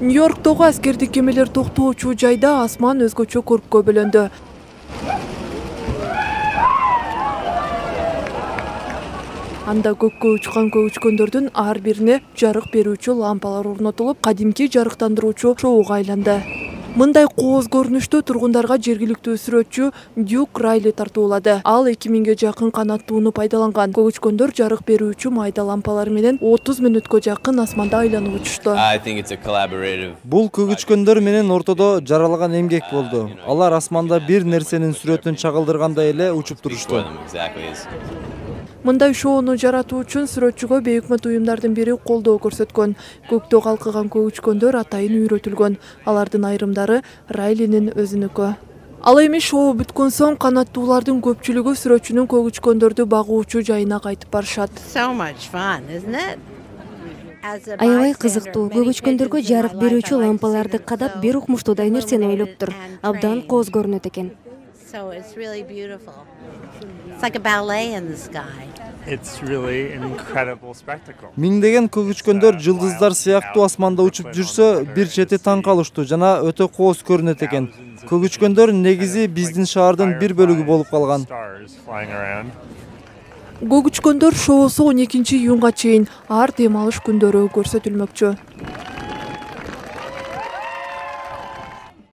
Нью-Йорктогу аскердик кемелер токтоочу жайда асман өзгөчө көрккө бөлөндү. Анда көккө учкан көгүчкөндөрдүн ар бирине жарык берүүчү лампалар орнотулуп, кадимки жарыктандыруучу шоуга айланды. Мындай кооз көрүнүштү тургундарга жергиликтүү сүрөтчү Дюк Райли тартуулады. Ал 2000ге жакын канаттууну пайдаланган. Көгүчкөндөр жарык берүүчү майда лампалар менен 30 мүнөткө жакын асманда айланып учушту. Бул көгүчкөндөр менен ортодо жаралган эмгек болду. Алар асманда бир нерсенин сүрөтүн чагылдыргандай эле учуп турушту. Мындай шоону жаратуу үчүн сүрөтчүгө бейөкмөт уюмдардын бири колдоо көрсөткөн. Көктө калкыган көгүчкөндөр атайын үйрөтүлгөн. Алардын айрымдары Райлинин өзүнүкү. Ал эми шоу бүткөн соң канаттуулардын көпчүлүгү сүрөтчүнүн көгүчкөндөрдү багуучу жайына кайтып барышат. Аябай кызыктуу. Көгүчкөндөргө жарык берүүчү лампаларды кадап бир укмуштуудай нерсени ойлоптур. Абдан кооз көрүнөт экен. Миңдеген көгүчкөндөр жылдыздар сыяктуу асманда учуп жүрсө, бир чети таң калыштуу жана өтө кооз көрүнөт экен. Көгүчкөндөр негизи биздин шаардын бир бөлүгү болуп калган. Көгүчкөндөр шоусу 12 июнга чейин ар дем алыш күндөрү көрсөтүлмөкчү.